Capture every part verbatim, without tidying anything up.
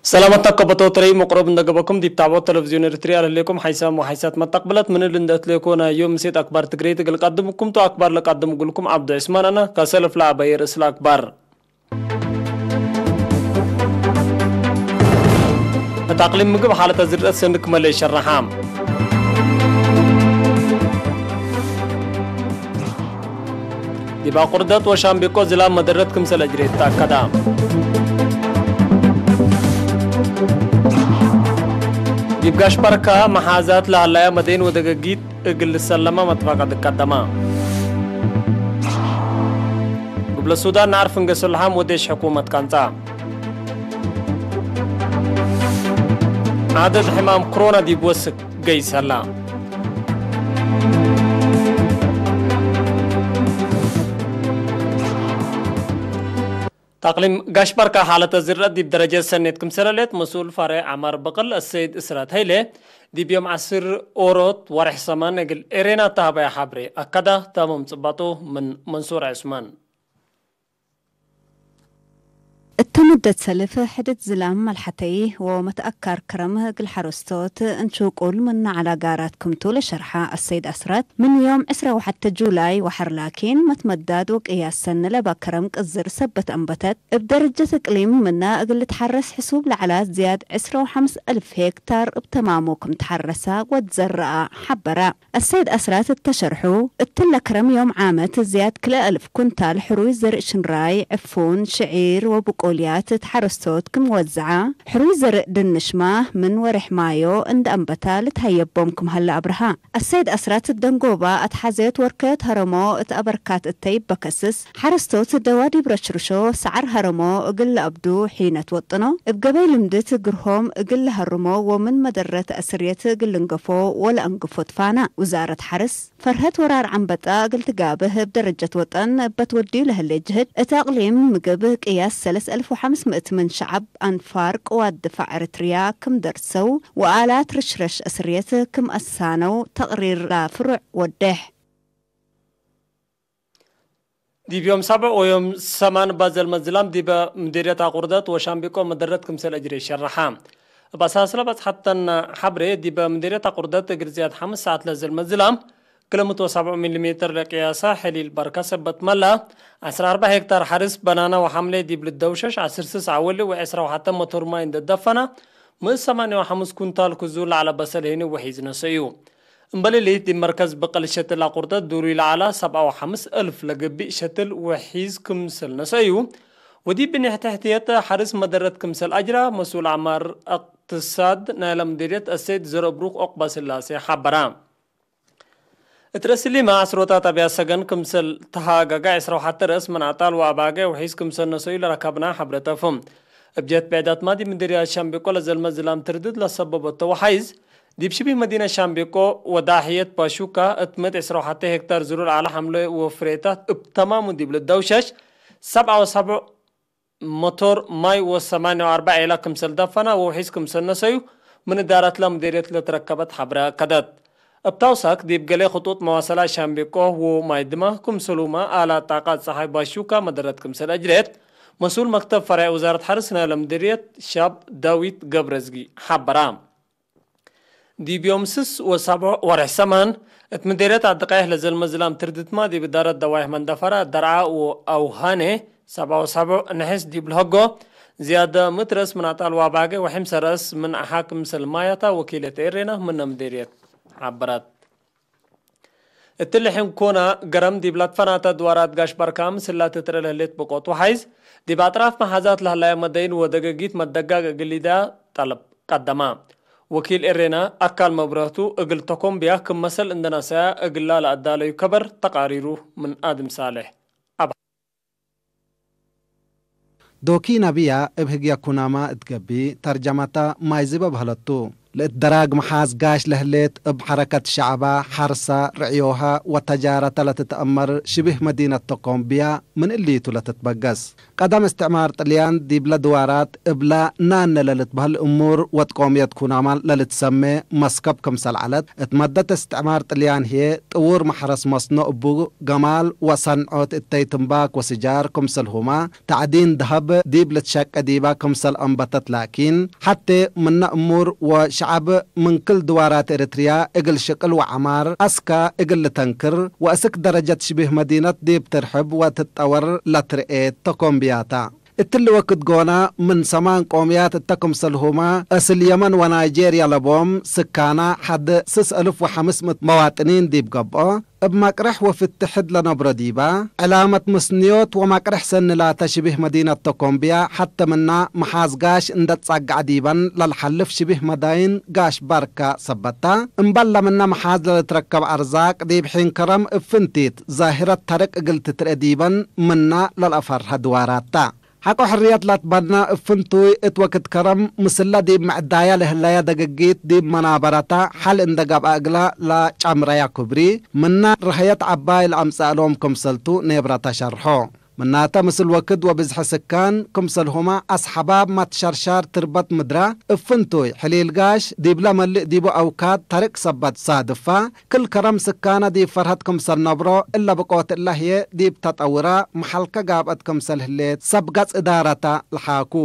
ሰላመት ነቀበቶ ትረይ መቅሮብ እንደ ገበኩም ዲብ ታብዖት ተለቪዝዮን ኤሪትርያ ለህሌኩም ሓይሳም ወሓይሳት መተቅብለት ምን እሊ እንደ እትሌኮ ናይ ዮም ምሴት አክባር ትግሬት እግል ቀድምኩም ቱ አክባር ለቀድም እግልኩም ዐብዱ ዑስማን አነ። ከሰልፍ ለአበየ ርእስ ለአክባር። እት አቅሊም ምግብ ሓለተ ዝርአት ሰኒ ክመ ለኢሸረሓ። ዲብ አቁርደት ወሻምቤቆ ዝላም መደረት ክምሰል አጅሬት ተአከደ። ዲብ ጋሽ በርካ መሓዛት ለሀለያ መደይን ወደገጊት እግል ልሰለመ መትፈቀድ ቀደመ። እብ ለሱዳን ነዐር ፍንገ ሰልሓም ወዴሽ ሕኩመት ካንጻ። ዐደድ ሕማም ክሮና ዲብ ወስክ ገይሰ ህላ። ተቅሊም ጋሽ በርካ ሓለተ ዝርአት ዲብ ደረጀት ሰኔት ክምሰል ሌት መስኡል ፈሬዕ ዐማር በቅል አሰይድ እስራት ሀይሌ ዲብ ዮም ዐስር ኦሮት ወሬሕ ሰማን እግል ኤሬና ተሀበየ ሐብሬ አከዳ። ታምም ጽባጦ ምን መንሱር ዑስማን። እተ መደት ሰልፍ ሕድድ ዝላም መልሐተይ ወመትአካር ክረም እግል ሐረስቶት እንሹቁል ምነ ዐለ ጋራት ክምቱ ለሸርሐ አሰይድ አስራት፣ ምን ዮም ዕስራ ወሐተ ጁላይ ወሐር ላኪን መትመዳድ ወቅያስ ሰኒ ለበ ክረም ቅዝር ሰበት አንበተት እብ ደረጀት እቅሊም ምነ እግል ልትሐረስ ሕሱብ ለዐለ ዝያድ ዕስራ ወሐምስ እልፍ ሄክታር እብ ተማሙ ክም ተሐረሰ ወትዘረአ ሐበረ። አሰይድ አስራት እተ ሸርሑ፣ እትለ ክረም ዮም ዓመት ዝያድ ክልኤ እልፍ ኩንታል ሕሩይ ዘርእ ሽንራይ፣ ዕፉን፣ ሽዒር ወብቆልያት እት ሐረስቶት ክም ወዘዐ፣ ሕሩይ ዘርእ ድንሽማ ምን ወሬሕ ማዮ እንደ አንበታ ልትሀየቦም ክም ሀለ አብርሃ። አሰይድ አስራት እት ደንጎባ አትሓዘዮት ወርከዮት ሀረሞ እት አበርካት እተ ኢበከስስ፣ ሐረስቶት ደዋ ዲብ ረሽርሾ ሰዐር ሀረሞ እግል ለአብዱ ሒነት ወጥኖ፣ እብ ገበይ ልምድት ግርሆም እግል ለሀርሞ ወምን መደረት አስርየት እግል ልንገፎ ወለአንግፎ ትፋና። ውዛረት ሐርስ፣ ፈርሀት ወራር ዐንበጣ እግል ትጋብህ እብ ደረጀት ወጠን እበ ትወድዩ ለህሌ ጅህድ፣ እት አቅሊም ምግብ ቅያስ ሰለስ አልፍ ወሐምስ ምእት ምን ሸዐብ አንፋር ቅዋት ድፋዕ ኤረትርያ ክም ደርሰው ወአላት ርሽረሽ አስርየት ክም አሳነው ተቅሪር ለፍሩዕ ወዴሕ። ዲብ ዮም ሰብዕ ወዮም ሰማን እባ ዘልመ ዝላም ዲበ ምዴርየት አቁርደት ወሻምቢቆ መደረት ክምሰል እጅሬ ሸረሐ። እብ አሳስለ በጽሐተን ሐብሬ፣ ዲበ ምዴርየት አቁርደት እግል ዝያድ ሐምስ ሰዓት ለዘልመ ዝላም፣ ክልምት ወሰብዑ ሚሊሜትር ለቅያሰ ሕሊል በርከ ሰበት መላ፣ ዐስር አርበዕ ሄክታር ሐርስ በናና ወሐምሌ ዲብ ልደውሸሽ፣ ዐስር ስስ አወሊ ወዐስራ ወሐተ መቶር ማይ እንደ ደፈና፣ ምን ሰማንያ ወሐምስ ኩንታል ክዙ ለዐለ በሰል ሄኒ ወሒዝ ነሰዩ። እምበል እሊት፣ ዲብ መርከዝ ብቅል ሸትል አቁርደት ዱሩይ ለዐለ ሰብዓ ወሐምስ እልፍ ለገብእ ሸትል ወሒዝ ክምሰል ነሰዩ፣ ወዲብ ብኔሕ ተሕትየት ሐርስ መደረት ክምሰል አጅራ፣ መስኡል አዕማር እቅትሳድ ናይለ ምዲርየት አሰይድ ዘረብሩክ ዑቅበስላሴ ሐበራ። እት ረእስሊመ ዐስሮታት አብያት ሰገን ክምሰል ተሃገገ፣ ዐስራ ወሐተ ረአስ ምን አጣል ወአባገ ወሒዝ ክምሰል ነሰዩ ለረከብና ሐብረ ተፍም። እብ ጀህት ብዕዳትማ ዲብ ምዲርያት ሻምቤቆ ለዘልመ ዝላም ትርድት ለሰበበቶ ወሓይዝ፣ ዲብ ሽቢህ መዲነት ሻምቤቆ ወዳሕየት ባሹካ እት ምእት ዐስራ ወሐተ ሄክታር ዝሩር ዐለ ሐምለ ወፍሬታት እብ ተማሙ ዲብ ልደውሸሽ፣ ሰብዓ ወሰብዑ መቶር ማይ ወሰማንያ ወአርበዕ ዔላ ክምሰል ደፈና ወውሒዝ ክምሰል ነሰዩ ምን እዳረትለ ምዴርየት ለትረከበት ሐብረ አከደት። እብ ታውሳክ ዲብ ገሌ ክጡጥ መዋሰላት ሻምቤቆ ወማይድማ ክምሰሉመ አላት ጣቀት ጸሓይ ባሹካ መደረት ክምሰል አጅሬት መስኡል መክተብ ፈሬዕ ውዛረት ሐርስ ናይለ ምዴርየት ሻብ ዳዊት ገብረዝጊ ሐበራ። ዲብ ዮም ስስ ወሰብዕ ወሬሕ ሰማን፣ እት ምዴርየት አድቀይሕ ለዘልመ ዝላም ትርድትማ ዲብ እዳረት ደዋይሕ መንደፈራ ደርዓ ወአውሃኔ፣ ሰብዓ ወሰብዕ ነሐስ ዲብ ለሀጎ፣ ዝያድ ምእት ረአስ ምን አጣል ወአባገ ወሐምሰ ረአስ ምን አሓ ክምሰል ማያታ ወኪለት ኤሬና ምነ ምዴርየት ሐበረት። እትሊ ሕንኮና ገረም ዲብ ለትፈናተ ድዋራት ጋሽ በርካ ምስላ ትትረ ለህሌት ብቆት ወሓይዝ፣ ዲብ አጥራፍ መሓዛት ለህላየ መደይን ወደገጊት መደጋግ እግል ሊዳ ጠለብ ቀደማ። ወኪል ኤሬና አካል መብረህቱ እግል ተኮምብያ ክም መሰል እንደ ነሰያ እግላ ለአዳለዩ ከበር ተቃሪሩ ምን አድም ሳሌሕ አብ። ዶኪ ነብያ እብ ህግየ ኩናማ እት ገብእ፣ ተርጀመተ ማይ ዝበ በህለቱ። ለእት ደራግ መሓዝ ጋሽ ለህሌት እብ ሐረከት ሸዐባ፣ ሐርሰ፣ ርዕዮሀ ወተጃረተ ለትትአመር ሽብህ መዲነት ተኮምብያ ምን እሊቱ ለትትበገስ። ቀደም እስትዕማር ጥልያን ዲብለ ድዋራት እብለ ናነ ለልትበህል እሙር ወትቆምየት ኩናማ ለልትሰሜ መስከብ ክምሰል ዐለት፣ እት መደት እስትዕማር ጥልያን ህዬ ጥዉር መሕረስ መስኖ እቡ ገማል ወሰንዖት እተይ ትምባክ ወስጃር ክምሰልሁመ፣ ተዕዲን ደሀብ ዲብ ልትሸቄ ዲበ ክምሰል አንበተት ላኪን፣ ሐቴ ምነ እሙር ወሸዐብ ምን ክል ድዋራት ኤረትርያ እግል ሽቅል ወዐማር አስከ እግል ልተንክር ወእስክ ደረጀት ሽቢህ መዲነት ዲብ ትርሕብ ወትትጠወር ለትርኤት ተኮምብያታ። እትሊ ወክድ ጎነ ምን ሰማን ቆምያት እተ ክምሰልሁመ፣ እስል የመን ወናይጄርያ ለቦም ስካና ሐድ ስስ እልፍ ወሐምስ ምእት መዋጥኒን ዲብ ገብኦ፣ እብ መቅርሕ ወፍትሕድ ለነብሮ ዲበ፣ ዕላመት ምስንዮት ወመቅርሕ ሰኒ ላተ ሽቢህ መዲነት ተኮምብያ፣ ሐተ ምና መሓዝ ጋሽ እንደ ትጻገዐ ዲበን ለልሐልፍ ሽቢህ መዳይን ጋሽ ባርከ ሰበት ተ። እምበል ለምነ መሓዝ ለልትረከብ አርዛቅ ዲብ ሒን ከረም እብ ፍንቲት ዛሂረት ተርቅ እግል ትትርኤ ዲበን ምነ ለልአፈርሀ ድዋራት ተ። ሐቆ ሕርየት ለትበነ እብ ፍንቱይ እት ወክድ ከረም ምስለ ዲብ ምዕዳየ ለህለየ ደገጊት ዲብ መናበረተ ሐል እንደ ገብአ እግለ ለጨምረየ ኩብሪ፣ ምነ ረሀየት ዐባይ ለአምጸአ እሎም ክምሰልቱ ኔብረተ ሸርሖ። ምናተ ምስል ወክድ ወብዝሒ ስካን ክምሰልሁመ አስሐባብ መትሸርሻር ትርበት ምድረ እብ ፍንቱይ ሕሊል ጋሽ ዲብለ መልእ ዲቡ አውካድ ተርቅ ሰበት ሳድፋ፣ ክል ከረም ስካነ ዲብ ፈርሀት ክምሰል ነብሮ፣ እለ ብቆት እለ ህዬ ዲብ ተጠውረ መሐልከ ጋብአት ክምሰል ህሌት ሰብ ገጽ እዳረተ ለሓኩ።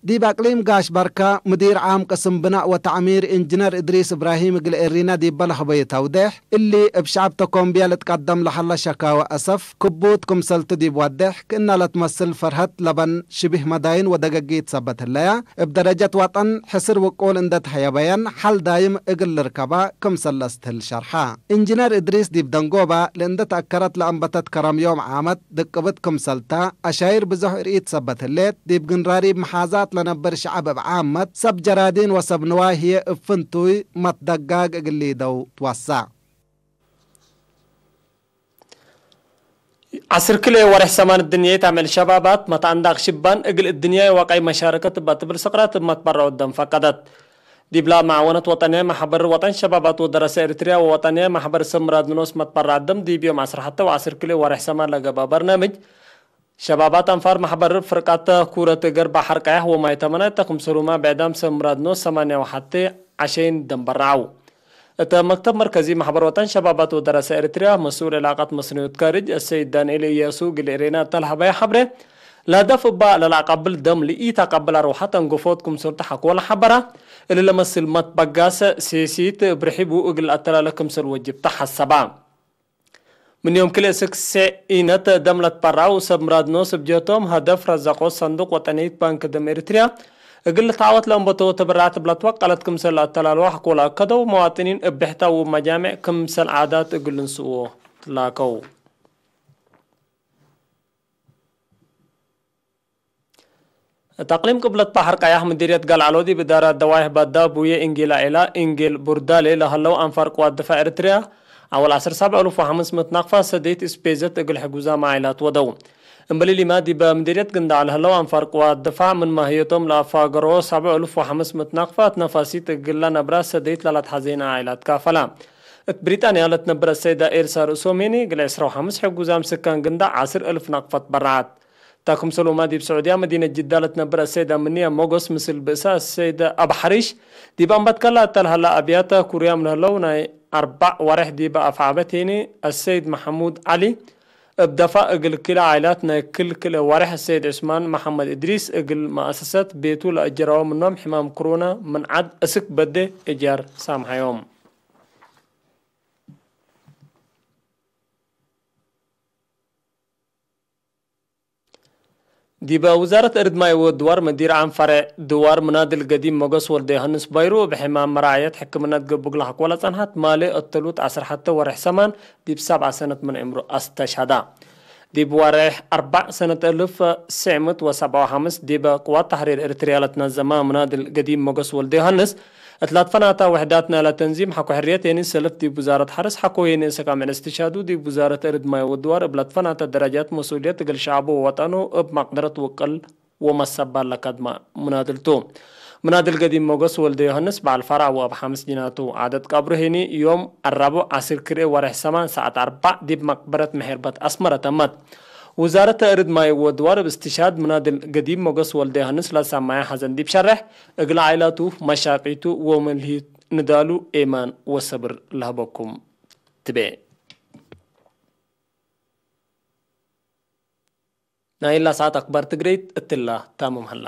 ዲብ አቅሊም ጋሽ በርከ፣ ምዲር ዓም ቅስም ብናእ ወተዕሚር ኢንጅነር እድሪስ እብራሂም እግል ኤሪነ ዲበ ለሀበዩ ተውዴሕ፣ እሊ እብ ሸዐብ ተኮምብየ ልትቀደም ለሀለ ሸካወ አሰፍ ክቡት ክምሰልቱ ዲብ ወዴሕ፣ ክእነ ለትመስል ፈርሀት ለበን ሽቢህ መዳይን ወደገጊት ሰበት ህለየ፣ እብ ደረጀት ወጠን ሕስር ውቁል እንደ ተሀየበየን ሐል ዳይም እግል ልርከበ ክምሰል ለአስትህል ሸርሐ። ኢንጅነር እድሪስ ዲብ ደንጎበ ለእንደ ተአከረት ለአንበተት ከረም ዮም ዓመት ድቅብት ክምሰልተ፣ አሻይር ብዞሕ እርኢት ሰበት ህሌት፣ ዲብ ግንራሪብ መሓዛት ለነብር ሸዐብ እብ ዓመት፣ ሰብ ጀራዲን ወሰብ ንዋይ ህዬ እብ ፍንቱይ መትደጋግ እግል ሊደው ትወሰዕ። ዐስር ክልኤ ወሬሕ ሰማን እድንያይት አምዕል ሸባባት መትአንዳቅ ሽባን እግል እድንያይ ወቀይ መሻረከት እበ ትብል ስቅረት እብ መትበረዑ ደም ፈቀደት። ዲብላ መዓወነት ወጠንያይ መሕበር ወጠን ሸባባት ወደረሰ ኤሪትርያ ወወጠንያይ መሕበር ሰብ ምራድ ንኖስ መትበረዐ ደም ዲብ ዮም ዐስር ሐተ ወዐስር ክልኤ ወሬሕ ሰማን ለገብአ በርናምጅ፣ ሸባባት አንፋር መሕበር ፍርቃት ኩረት እገር በሐር ቀያሕ ወማይ ተመናይ ተክምሰሉመ ብዕዳም ሰብ ምራድ ኖስ ሰማንያ ወሐቴ ዐሸይን ደም በረዐው። እተ መክተብ መርከዚ መሕበር ወጠን ሸባባት ወደረሰ ኤሪትርያ መስኡል ዕላቀት መስንዮት ካርጅ አሰይድ ዳንኤል እያሱ እግል ኤሬና እተ ለሀበየ ሐብሬ፣ ለሀደፍ እባ ለለአቀብል ደም ለኢተአቀብል አርወሐት አንጎፎት ክምሰልቱ ሐቆ ለሐበራ፣ እሊ ለመስል መትበጋሰ ሴሲት እብ ርሒቡ እግል ለአተላለ ክምሰል ወጅብ ተሐሰባ። ምን ዮም ክልኤ ስክ ሴዕ ኢነት ደም ለትበራው ሰብ ምራድ ኖስ እብ ጀቶም ሀደፍ ረዘቆት ሰንዱቅ ወጠንይት ባንክ ደም ኤሪትርያ እግል ልትዓወት ለእንበቶ ተበራዕት እብ ለትወቀለት ክምሰል ለአተላልዋ ሐቆ ለአከደው መዋጥኒን እብ ብሕታ ወመጃምዕ ክምሰል ዓዳት እግል ልንስእዎ ትላከው። እት አቅሊም ቅብለት በሐር ቀያሕ ምዲርየት ገልዐሎ ዲብ እዳራት ደዋይሕ ባዳ ቡዬ ኢንጌል ዓኢላ ኢንጌል ቡርዳሌ ለሀለው አንፋር ቅዋት ድፋዕ ኤሪትርያ፣ አወል ዐስር ሰብዕ እሉፍ ወሐምስ ምእት ናቅፋት ሰደይት እስፔዘት እግል ሕጉዛም ዓኢላት ወደው። እምበሊሊማ ዲበ ምዲርየት ግንዳዕ ለሀለው አንፋር ቅዋት ድፋዕ ምን ማህየቶም ለአፋገሮ ሰብዕ እሉፍ ወሐምስ ምእት ናቅፋት ነፋሲት እግል ለነብራ ሰደይት ለለትሐዜነ ዓኢላት ካፈላ። እት ብሪጣንያ ለትነብር አሰይደ ኤልሳ ርእሶም ሄኒ እግል ዕስራ ወሐምስ ሕጉዛም ስካን ግንዳዕ ዐስር እልፍ ናቅፋት በረዐት። ታ ክምሰልሁመ ዲብ ስዑድያ መዲነት ጅዳ ለትነብር አሰይደ ምንያ ሞጎስ ምስል ብእሳ አሰይደ አብ ሐሪሽ፣ ዲብ አንበትከ ለአተ ለሀላ አብያተ ኩርያም ለህለው ናይ አርበዕ ወሬሕ ዲበ አፍዓበት ሄኒ አሰይድ መሐሙድ ዐሊ እብ ደፋእ እግል ክልኤ ዓኢላት ናይ ክል ክልኤ ወሬሕ አሰይድ ዑስማን መሐመድ እድሪስ እግል መአሰሰት ቤቱ ለአጀረወ ምኖም ሕማም ክሮና ምን ዐድ እስክ በዴ እጃር ሳምሐዮም። ዲበ ውዛረት እርድ ማይ ወድዋር መዲር ዓም ፈሬዕ ድዋር ምናድል ገዲም ሞገስ ወልደዮሐንስ ባይሩ፣ እብ ሕማም መራዕየት ሕክምነት ገብእ እግል ሐቆ ለጸንሐት ማሌ እተሉት ዐስር ሐተ ወሬሕ ሰማን ዲብ ሰብዐ ሰነት ምን ዕምሩ አስተሽሀዳ። ዲብ ወሬሕ አርበዕ ሰነት እልፍ ትስዕ ምእት ወሰብዐ ወሐምስ ዲበ ቅዋት ተሕሪር ኤሪትርያ ለትነዘመ ምናድል ገዲም ሞገስ ወልደዮሐንስ፣ እት ለትፈናተ ውሕዳት ናይለ ተንዚም ሐቆ ሕርየት ሄኒ ሰልፍ ዲብ ውዛረት ሐርስ ሐቆ ሄኒ ሰካምዕል እስትሽሃዱ ዲብ ውዛረት እርድ ማይ ወድዋር እብ ለትፈናተ ደረጃት መስኡልየት እግል ሸዐቡ ወወጠኑ እብ መቅደረት ውቅል ወመሰባል ለከድመ ምናድል ቱ። ምናድል ገዲም ሞገስ ወልደ ዮሐንስ በዓል ፋራ ወአብ ሐምስ ጅናቱ። ዓደት ቀብሩ ሄኒ ዮም አራብዕ አስር ክርኤ ወርሕ ሰማን ሰዓት አርባዕ ዲብ መቅበረት መሔርበት አስመረ ተመት። ውዛረት ተእርድ ማይ ወድዋር እብ እስትሽሃድ ምናድል ገዲም ሞገስ ወልደ ዮሐንስ ለሰማየ ሐዘን ዲብ ሸሬሕ፣ እግለ ዓኢላቱ፣ መሻቂቱ ወመልሂት ንዳሉ ኤማን ወሰብር ለሀበኩም ትቤ። ናይላ ሰዓት አክባር ትግሬይት እትላ ታምም ሀላ።